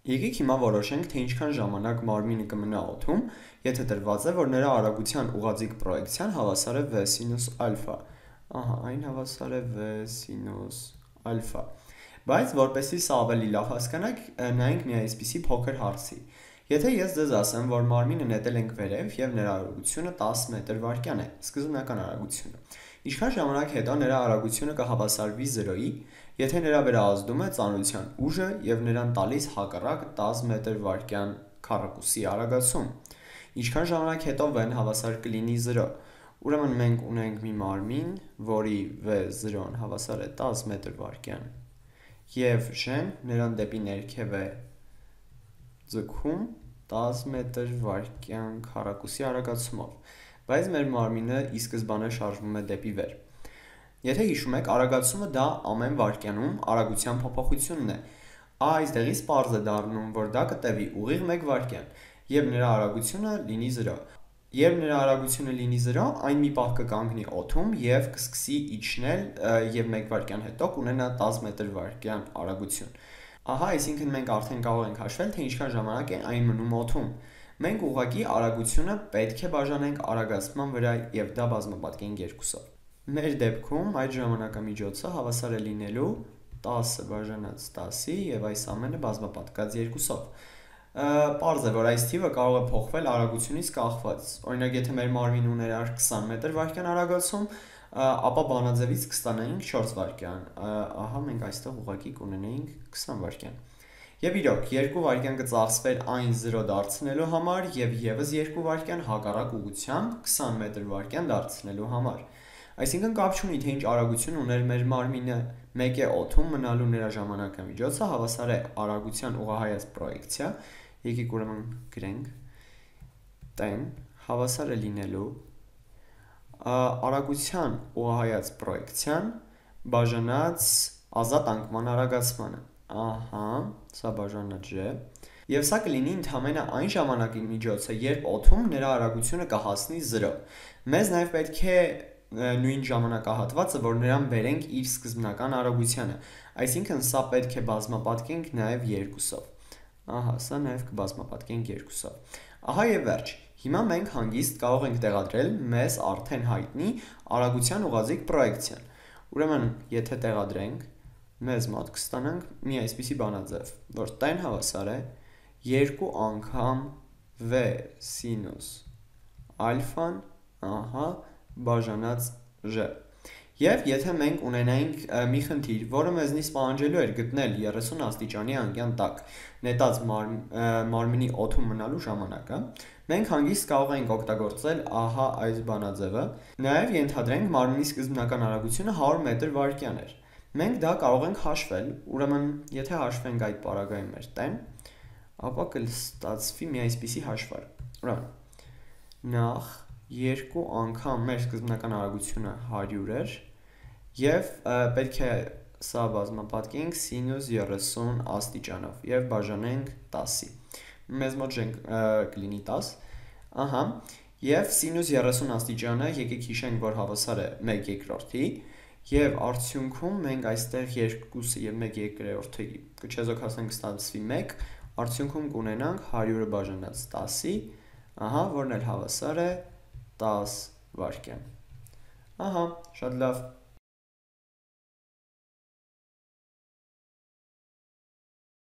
Եկեք հիմա որոշենք, թե ինչքան ժամանակ մարմինը կմնա օդում, եթե տրված է, որ նրա արագության ուղղաձիգ պրոյեկցիան հավասար է v սինուս ալֆա։ Ահա, այն հավասար է v սինուս ալֆա։ Բայց որպեսզի սա ավելի լավ հասկանանք, նայենք մի այսպիսի փոքր հարցի։ Եթե ես ձեզ ասեմ, որ մարմինը նետել ենք վերև եւ նրա արագությունը 10 մետր/վայրկյան է, սկզբնական արագությունը, ինչքան ժամանակ հետո նրա արագությունը կհավասարվի 0-ի, եթե նրա վրա ազդում է ծանրության ուժը եւ նրան տալիս հակառակ 10 մետր/վայրկյան քառակուսի արագացում, ինչքան ժամանակ հետո v-ն հավասար կլինի 0։ Ուրեմն մենք ունենք մի մարմին, որի v0-ն հավասար է 10 մետր/վայրկյան եւ ժ-ն նրան դեպի ներքև է ձգում 10 մետր/վայրկյան քառակուսի արագացումով, բայց մեր մարմինը ի սկզբանե շարժվում է դեպի վեր։ Եթե հիշում եք, արագացումը դա ամեն վայրկյանում արագության փոփոխությունն է, այստեղից պարզ է դառնում, որ դա կտևի ուղիղ 1 վայրկյան, եւ նրա արագությունը լինի 0։ Երբ նրա արագությունը լինի 0, այն մի պահ կկանգնի օդում եւ կսկսի իջնել եւ 1 վայրկյան հետո կունենա 10 մետր/վայրկյան արագություն։ Ահա, այսինքն մենք արդեն կարող ենք հաշվել, թե ինչքան ժամանակ է այն մնում օդում։ Մենք ուղղակի արագությունը պետք է բաժանենք արագացման վրա եւ դա բազմապատկենք 2-ով։ Մեր դեպքում այդ ժամանակամիջոցը հավասար է լինելու 10-ը բաժանած 10-ի եւ այս ամենը բազմապատկած 2-ով։ Պարզ է, որ այս թիվը կարող է փոխվել արագությունից կախված։ Օրինակ, եթե մեր մարմինը ուներ 20 մետր/վայրկյան արագացում, ապա բանաձևից կստանայինք 4 վայրկյան։ Ահա մենք այստեղ ուղղակի կունենայինք 20 վայրկյան։ Եվ իրոք, 2 վայրկյան կծախսվեր այն 0 դարձնելու համար եւ եւս 2 վայրկյան հակառակ ուղղությամբ 20 մետր/վայրկյան դարձնելու համար։ Այսինքն կապ չունի, թե ինչ արագություն ուներ մեր մարմինը, մեկ է օդում մնալու նրա ժամանակամիջոցը հավասար է արագության ուղղահայաց պրոյեկցիա, եկեք ուրեմն գրենք, տեն հավասար է լինելու արագության ուղղահայաց պրոյեկցիան բաժանած ազատ անկման արագացմանը։ Ահա, սա բաժանած j, եւ սա կլինի ընդհանրապես այն ժամանակի միջոցը, երբ օդում նրա արագությունը կհասնի 0։ Մեզ նաեւ պետք է նույն ժամանակահատվածը, որ նրան բերենք իր սկզբնական արագությանը, այսինքն սա պետք է բազմապատկենք նաեւ 2-ով։ Ահա, սա նաեւ կբազմապատկենք 2-ով։ Ահա եւ վերջ։ Հիմա մենք հանգիստ կարող ենք տեղադրել մեզ արդեն հայտնի արագության ուղղաձիգ պրոյեկցիան։ Ուրեմն, եթե տեղադրենք, մեզ մոտ կստանանք մի այսպիսի բանաձև, որ տեն հավասար է 2 անգամ v սինուս ալֆան, ահա, բաժանած j։ Եվ եթե մենք ունենայինք մի խնդիր, որը մեզնից պահանջելու էր գտնել 30 աստիճանի անկյան տակ նետած մարմնի օդում մնալու ժամանակը, մենք հանգիստ կարող ենք օգտագործել ահա այս բանաձևը, նաև ենթադրենք մարմնի սկզբնական արագությունը 100 մետր/վայրկյան էր։ Մենք դա կարող ենք հաշվել, ուրեմն եթե հաշվենք այդ պարագայում մեր տեն, ապա կստացվի մի այսպիսի հաշվարկ։ Ուրեմն նախ 2 անգամ մեր սկզբնական արագությունը 100 էր եւ պետք է սա բազմապատկենք սինուս 30 աստիճանով եւ բաժանենք 10-ի։ Մեզ մոտ կլինի 10, ահա, եւ սինուս 30 աստիճանը եկեք հիշենք, որ հավասար է 1/2-ի եւ արդյունքում մենք այստեղ 2-ը եւ 1/2-ը կչեզոքացնենք կստացվի 1, արդյունքում կունենանք 100-ը բաժանած 10-ի, ահա, որն էլ հավասար է 10 վայրկյան։ Ահա, շատ լավ։